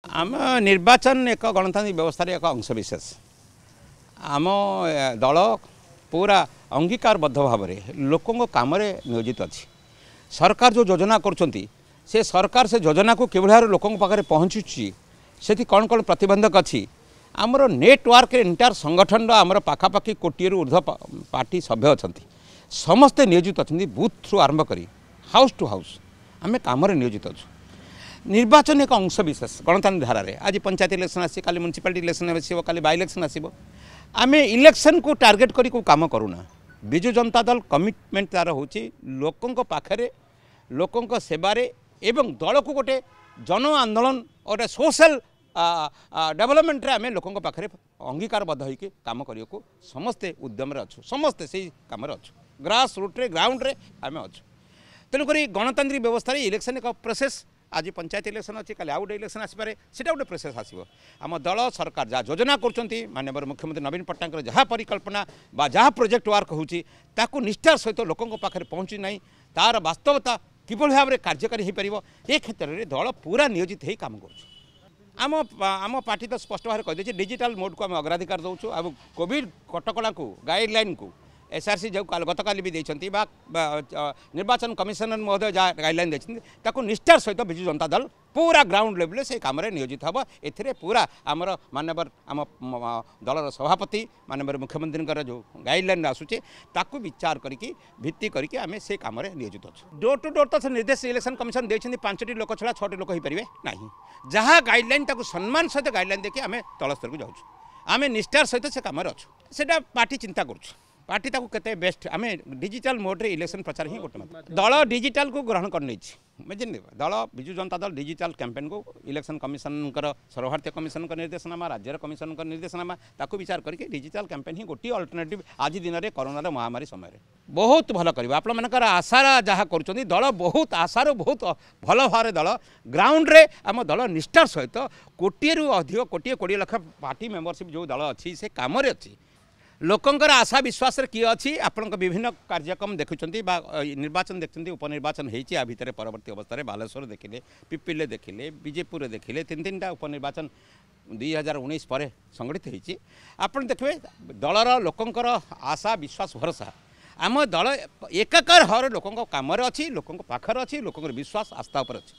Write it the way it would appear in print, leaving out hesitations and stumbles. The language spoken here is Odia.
ଆମ ନିର୍ବାଚନ ଏକ ଗଣତାନ୍ତ୍ରିକ ବ୍ୟବସ୍ଥାରେ ଏକ ଅଂଶବିଶେଷ। ଆମ ଦଳ ପୁରା ଅଙ୍ଗୀକାରବଦ୍ଧ ଭାବରେ ଲୋକଙ୍କ କାମରେ ନିୟୋଜିତ ଅଛି। ସରକାର ଯେଉଁ ଯୋଜନା କରୁଛନ୍ତି, ସେ ସରକାର ସେ ଯୋଜନାକୁ କିଭଳି ଭାବରେ ଲୋକଙ୍କ ପାଖରେ ପହଞ୍ଚୁଛି, ସେଠି କ'ଣ କ'ଣ ପ୍ରତିବନ୍ଧକ ଅଛି, ଆମର ନେଟୱାର୍କରେ ଏଣ୍ଟାୟାର ସଂଗଠନର ଆମର ପାଖାପାଖି କୋଟିଏରୁ ଉର୍ଦ୍ଧ୍ୱ ପାର୍ଟି ସଭ୍ୟ ଅଛନ୍ତି, ସମସ୍ତେ ନିୟୋଜିତ ଅଛନ୍ତି। ବୁଥରୁ ଆରମ୍ଭ କରି ହାଉସ୍ ଟୁ ହାଉସ୍ ଆମେ କାମରେ ନିୟୋଜିତ ଅଛୁ। ନିର୍ବାଚନ ଏକ ଅଂଶ ବିଶେଷ ଗଣତାନ୍ତ୍ରିକ ଧାରାରେ। ଆଜି ପଞ୍ଚାୟତ ଇଲେକ୍ସନ୍ ଆସିବ, କାଲି ମ୍ୟୁନିସିପାଲିଟି ଇଲେକ୍ସନ୍ ଆସିବ, କାଲି ବାଇ ଇଲେକ୍ସନ୍ ଆସିବ। ଆମେ ଇଲେକ୍ସନ୍କୁ ଟାର୍ଗେଟ୍ କରି କେଉଁ କାମ କରୁନା। ବିଜୁ ଜନତା ଦଳ କମିଟମେଣ୍ଟ ତା'ର ହେଉଛି ଲୋକଙ୍କ ପାଖରେ, ଲୋକଙ୍କ ସେବାରେ ଏବଂ ଦଳକୁ ଗୋଟେ ଜନ ଆନ୍ଦୋଳନ, ଗୋଟେ ସୋସିଆଲ ଡେଭଲପମେଣ୍ଟରେ ଆମେ ଲୋକଙ୍କ ପାଖରେ ଅଙ୍ଗୀକାରବଦ୍ଧ ହୋଇକି କାମ କରିବାକୁ ସମସ୍ତେ ଉଦ୍ୟମରେ ଅଛୁ, ସମସ୍ତେ ସେଇ କାମରେ ଅଛୁ। ଗ୍ରାସ୍ ରୁଟ୍ରେ, ଗ୍ରାଉଣ୍ଡରେ ଆମେ ଅଛୁ। ତେଣୁକରି ଗଣତାନ୍ତ୍ରିକ ବ୍ୟବସ୍ଥାରେ ଇଲେକ୍ସନ୍ ଏକ ପ୍ରୋସେସ୍। ଆଜି ପଞ୍ଚାୟତ ଇଲେକ୍ସନ୍ ଅଛି, କାଲି ଆଉ ଗୋଟେ ଇଲେକ୍ସନ୍ ଆସିପାରେ, ସେଇଟା ଗୋଟେ ପ୍ରୋସେସ୍ ଆସିବ। ଆମ ଦଳ ସରକାର ଯାହା ଯୋଜନା କରୁଛନ୍ତି, ମାନ୍ୟବର ମୁଖ୍ୟମନ୍ତ୍ରୀ ନବୀନ ପଟ୍ଟନାୟକଙ୍କର ଯାହା ପରିକଳ୍ପନା ବା ଯାହା ପ୍ରୋଜେକ୍ଟ ୱାର୍କ ହେଉଛି, ତାକୁ ନିଷ୍ଠାର ସହିତ ଲୋକଙ୍କ ପାଖରେ ପହଞ୍ଚି ନାହିଁ, ତା'ର ବାସ୍ତବତା କିଭଳି ଭାବରେ କାର୍ଯ୍ୟକାରୀ ହୋଇପାରିବ, ଏ କ୍ଷେତ୍ରରେ ଦଳ ପୁରା ନିୟୋଜିତ ହେଇ କାମ କରୁଛୁ। ଆମ ପାର୍ଟି ତ ସ୍ପଷ୍ଟ ଭାବରେ କହିଦେଇଛି, ଡିଜିଟାଲ ମୋଡ଼କୁ ଆମେ ଅଗ୍ରାଧିକାର ଦେଉଛୁ ଆଉ କୋଭିଡ଼ କଟକଣାକୁ, ଗାଇଡ଼ଲାଇନ୍କୁ ଏସ୍ଆର୍ସି ଯେଉଁ ଗତକାଲି ବି ଦେଇଛନ୍ତି ବା ନିର୍ବାଚନ କମିଶନର ମହୋଦୟ ଯାହା ଗାଇଡ଼ଲାଇନ୍ ଦେଇଛନ୍ତି, ତାକୁ ନିଷ୍ଠାର ସହିତ ବିଜୁ ଜନତା ଦଳ ପୁରା ଗ୍ରାଉଣ୍ଡ ଲେଭେଲରେ ସେଇ କାମରେ ନିୟୋଜିତ ହେବ। ଏଥିରେ ପୁରା ଆମର ମାନ୍ୟବର ଆମ ଦଳର ସଭାପତି ମାନ୍ୟବର ମୁଖ୍ୟମନ୍ତ୍ରୀଙ୍କର ଯେଉଁ ଗାଇଡ଼ଲାଇନ୍ ଆସୁଛି, ତାକୁ ବିଚାର କରିକି, ଭିତ୍ତି କରିକି ଆମେ ସେ କାମରେ ନିୟୋଜିତ ଅଛୁ। ଡୋର୍ ଟୁ ଡୋର୍ ତ ସେ ନିର୍ଦ୍ଦେଶ ଇଲେକ୍ସନ୍ କମିଶନ ଦେଇଛନ୍ତି, 5ଟି ଲୋକ ଛଡ଼ା 6ଟି ଲୋକ ହୋଇପାରିବେ ନାହିଁ। ଯାହା ଗାଇଡ଼ଲାଇନ୍, ତାକୁ ସମ୍ମାନ ସହିତ ଗାଇଡ଼ଲାଇନ୍ ଦେଖି ଆମେ ତଳ ସ୍ତରକୁ ଯାଉଛୁ। ଆମେ ନିଷ୍ଠାର ସହିତ ସେ କାମରେ ଅଛୁ। ସେଇଟା ପାର୍ଟି ଚିନ୍ତା କରୁଛୁ, ପାର୍ଟି ତାକୁ କେତେ ବେଷ୍ଟ। ଆମେ ଡିଜିଟାଲ ମୋଡ଼ରେ ଇଲେକ୍ସନ୍ ପ୍ରଚାର ହିଁ ଗୋଟେ ମାଧ୍ୟମ। ଦଳ ଡିଜିଟାଲକୁ ଗ୍ରହଣ କରିନେଇଛି, ବୁଝିଲେ? ଦଳ ବିଜୁ ଜନତା ଦଳ ଡିଜିଟାଲ କ୍ୟାମ୍ପେନ୍କୁ ଇଲେକ୍ସନ୍ କମିଶନଙ୍କର, ସର୍ବଭାରତୀୟ କମିଶନଙ୍କ ନିର୍ଦ୍ଦେଶନାମା, ରାଜ୍ୟର କମିଶନଙ୍କ ନିର୍ଦ୍ଦେଶନାମା, ତାକୁ ବିଚାର କରିକି ଡିଜିଟାଲ କ୍ୟାମ୍ପେନ୍ ହିଁ ଗୋଟିଏ ଅଲ୍ଟରନେଟିଭ୍ ଆଜି ଦିନରେ କରୋନାର ମହାମାରୀ ସମୟରେ। ବହୁତ ଭଲ କରିବ। ଆପଣମାନଙ୍କର ଆଶାର ଯାହା କରୁଛନ୍ତି, ଦଳ ବହୁତ ଆଶାରୁ ବହୁତ ଭଲ ଭାବରେ ଦଳ ଗ୍ରାଉଣ୍ଡରେ, ଆମ ଦଳ ନିଷ୍ଠାର ସହିତ କୋଟିଏରୁ ଅଧିକ, କୋଟିଏ 20 ଲକ୍ଷ ପାର୍ଟି ମେମ୍ବରସିପ୍ ଯେଉଁ ଦଳ ଅଛି, ସେ କାମରେ ଅଛି। ଲୋକଙ୍କର ଆଶା ବିଶ୍ୱାସରେ କିଏ ଅଛି, ଆପଣଙ୍କ ବିଭିନ୍ନ କାର୍ଯ୍ୟକ୍ରମ ଦେଖୁଛନ୍ତି ବା ନିର୍ବାଚନ ଦେଖୁଛନ୍ତି, ଉପନିର୍ବାଚନ ହେଇଛି। ଆ ଭିତରେ ପରବର୍ତ୍ତୀ ଅବସ୍ଥାରେ ବାଲେଶ୍ୱର ଦେଖିଲେ, ପିପିଲିରେ ଦେଖିଲେ, ବିଜେପୁରରେ ଦେଖିଲେ, 3 3ଟା ଉପନିର୍ବାଚନ 2019 ପରେ ସଂଗଠିତ ହେଇଛି। ଆପଣ ଦେଖିବେ ଦଳର ଲୋକଙ୍କର ଆଶା, ବିଶ୍ୱାସ, ଭରସା। ଆମ ଦଳ ଏକାକାର ଭାବରେ ଲୋକଙ୍କ କାମରେ ଅଛି, ଲୋକଙ୍କ ପାଖରେ ଅଛି, ଲୋକଙ୍କର ବିଶ୍ୱାସ ଆସ୍ଥା ଉପରେ ଅଛି।